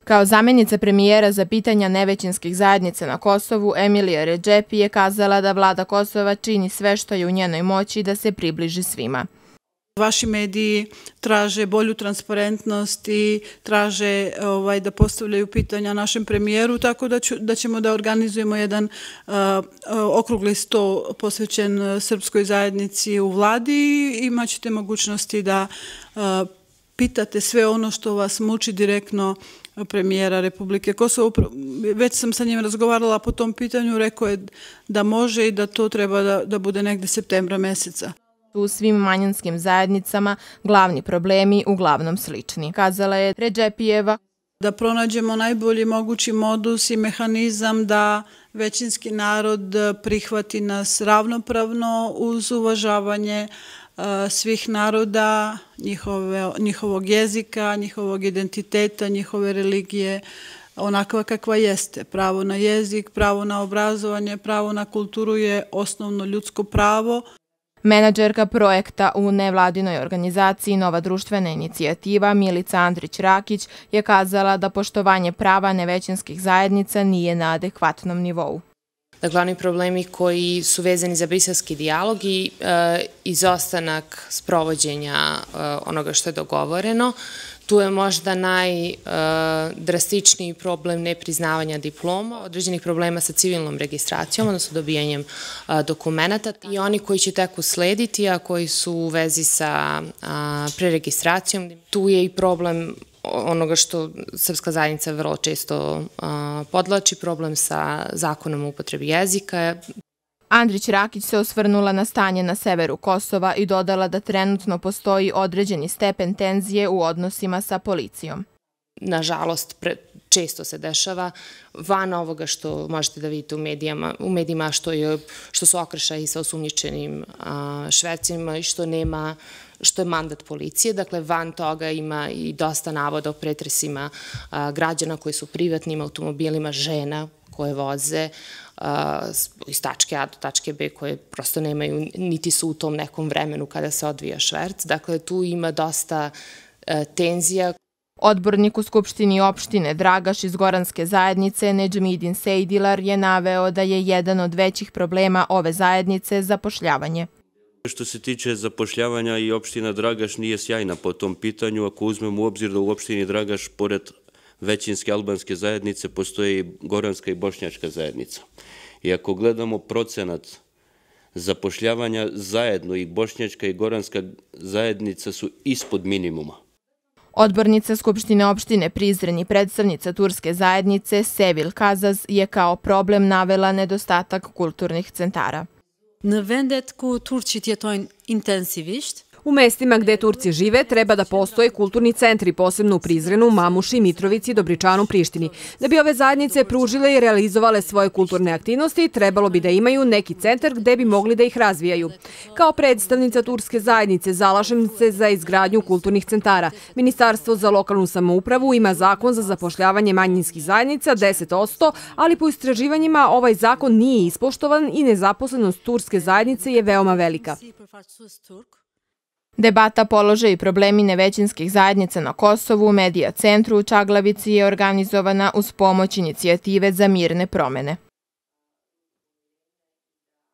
Kao zamjenica premijera za pitanja nevećinskih zajednica na Kosovu, Emilija Redžepi je kazala da vlada Kosova čini sve što je u njenoj moći da se približi svima. Vaši mediji traže bolju transparentnost i traže da postavljaju pitanja našem premijeru, tako da ćemo da organizujemo jedan okrugli sto posvećen srpskoj zajednici u vladi i imat ćete mogućnosti da pitate sve ono što vas muči direktno premijera Republike Kosovo. Već sam sa njim razgovarala po tom pitanju, rekao je da može i da to treba da bude negde septembra meseca. U svim manjinskim zajednicama glavni problemi uglavnom slični, kazala je Redžepijeva. Da pronađemo najbolji mogući modus i mehanizam da većinski narod prihvati nas ravnopravno uz uvažavanje svih naroda, njihovog jezika, njihovog identiteta, njihove religije, onakva kakva jeste. Pravo na jezik, pravo na obrazovanje, pravo na kulturu je osnovno ljudsko pravo. Menadžerka projekta u nevladinoj organizaciji Nova društvena inicijativa Milica Andrić-Rakić je kazala da poštovanje prava nevećinskih zajednica nije na adekvatnom nivou. Glavni problemi koji su vezani za briselski dijalog i izostanak sprovođenja onoga što je dogovoreno. Tu je možda najdrastičniji problem nepriznavanja diploma, određenih problema sa civilnom registracijom, odnosno dobijanjem dokumenta i oni koji će tek uslediti, a koji su u vezi sa preregistracijom. Tu je i problem onoga što srpska zajednica vrlo često podvlači, problem sa zakonom o upotrebi jezika. Andrić-Rakić se osvrnula na stanje na severu Kosova i dodala da trenutno postoji određeni stepen tenzije u odnosima sa policijom. Nažalost, često se dešava van ovoga što možete da vidite u medijima što su okršaji sa osumnjičenim švercima i što je mandat policije. Dakle, van toga ima i dosta navoda o pretresima građana koji su privatnim automobilima, žena koje voze iz tačke A do tačke B, koje prosto nemaju, niti su u tom nekom vremenu kada se odvija šverc. Dakle, tu ima dosta tenzija. Odbornik u Skupštini opštine Dragaš iz Goranske zajednice Nedžmidin Sejdilar je naveo da je jedan od većih problema ove zajednice zapošljavanje. Što se tiče zapošljavanja, i opština Dragaš nije sjajna po tom pitanju. Ako uzmemo u obzir da u opštini Dragaš, pored većinske albanske zajednice, postoje i goranska i bošnjačka zajednica. I ako gledamo procenat zapošljavanja zajedno, i bošnjačka i goranska zajednica su ispod minimuma. Odbornica Skupštine opštine Prizren i predstavnica turske zajednice Sevil Kazaz je kao problem navela nedostatak kulturnih centara. Në vendet ku turqit jetojnë intensivisht, U mestima gde Turci žive treba da postoje kulturni centri, posebno u Prizrenu, Mamuši, Mitrovici, Dobričanu, Prištini. Da bi ove zajednice pružile i realizovale svoje kulturne aktivnosti, trebalo bi da imaju neki centar gde bi mogli da ih razvijaju. Kao predstavnica turske zajednice zalažem se za izgradnju kulturnih centara. Ministarstvo za lokalnu samoupravu ima zakon za zapošljavanje manjinskih zajednica 10%, ali po istraživanjima ovaj zakon nije ispoštovan i nezaposlenost turske zajednice je veoma velika. Debata položaj i problemi nevećinskih zajednica na Kosovu u Medija centru u Čaglavici je organizovana uz pomoć inicijative za mirne promene.